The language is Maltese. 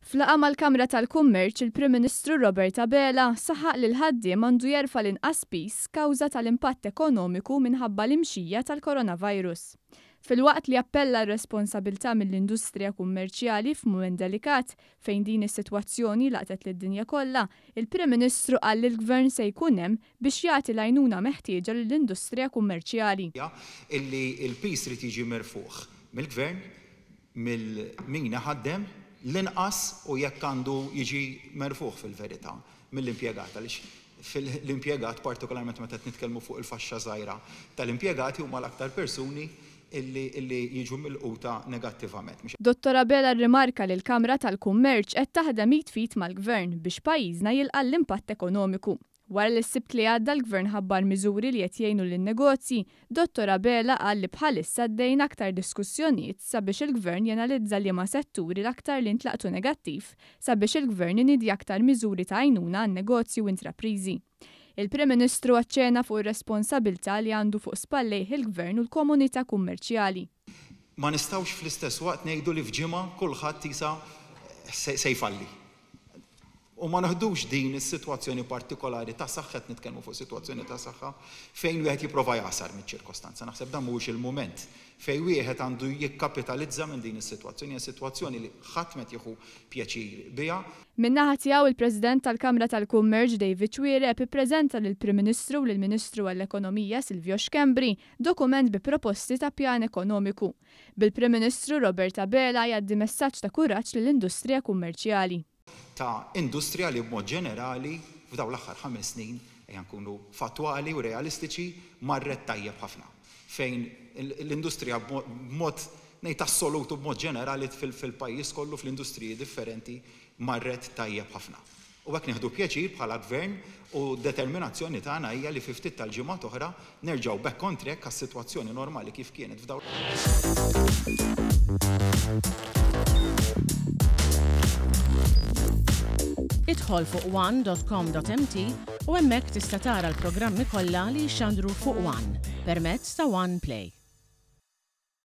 F'laqgħa mal-Kamra tal-Kummerċ, il-Prim Ministru Robert Abela saħaq li l-ħaddiem għandu jerfa' l-inqas piż kawża tal-impatt ekonomiku minħabba l-imxija tal-coronavirus. Filwaqt li appella għar-responsabilità mill-industrija kummerċjali f'mument delikat fejn din is-sitwazzjoni laqtet lid-dinja kollha, il-Prim Ministru qal li l-Gvern se jkun hemm biex jagħti l-għajnuna meħtieġa lill-industrija kummerċjali. Illi l-piż irid jiġi merfugħ mill-Gvern mill min iħaddem l-inqas u jekk għandu jiġi merfugħ fil-verità mill-impjegat għaliex l-impjegat partikolarment meta qed nitkellmu fuq il-faxxa żgħira tal-impjegati huma l-aktar persuni illi illi jiġu milquta negattivament. Dottor Abela rrimarka li l-Kamra tal-Kummerċ qed taħdem id f'id mal-Gvern biex pajjiżna jilqa' l-impatt ekonomiku. Wara li s-Sibt li għadda l-Gvern ħabbar miżuri li qed jgħinu lin-negozji, Dottor Abela qal li bħalissa għaddejjin aktar diskussjonijiet sabiex il-Gvern janalizza liema setturi l-aktar li ntlaqtu negattiv sabiex il-Gvern iniedi aktar miżuri ta' għajnuna għan-negozji u intrapriżi. Il-Prim Ministru aċċena fuq ir-responsabilità li għandu fuq spallejh il-Gvern u l-komunità kummerċjali. Ma nistgħux fl-istess waqt ngħidu li f'ġimgħa kulħadd isa se jfalli. U ma neħdux din is-sitwazzjoni partikolari ta' saħħa, qed nitkellmu fuq sitwazzjoni ta' saħħa, fejn wieħed jipprova jagħsar miċ-ċirkostanza. Naħseb dan mhuwiex il-mument fejn wieħed għandu jikkapitalizza minn din is-sitwazzjoni. Hija sitwazzjoni li ħadd m'qed jieħu pjaċir biha. Min-naħa tiegħu il-President tal-Kamra tal-Kummerċ David Xuereb ippreżenta lill-Prim Ministru u lill-Ministru għall-Ekonomija Silvio Schembri dokument bi proposti ta' pjan ekonomiku. Bil-Prim Ministru Robert Abela jgħaddi messaġġ ta' kuraġġ lill-industrija kummerċjali. Ta' industrija li b'mod ġenerali f'dawn l-aħħar ħames snin, ejja nkunu fattwali u realistiċi, marret tajjeb ħafna. Fejn l-industrija b'mod ngħid assolut u b'mod ġenerali fil-pajjiż kollu fl-industriji differenti marret tajjeb ħafna. U hekk nieħdu pjaċir bħala Gvern u d-determinazzjoni tagħna hija li fi ftit tal-ġimgħat oħra nerġgħu back on track għas-sitwazzjoni normali kif kienet f'dawn Idħol fuq one.com.mt u hemmhekk tista' tara l-programmi kollha li jixxandru fuq One permezz ta' One Play.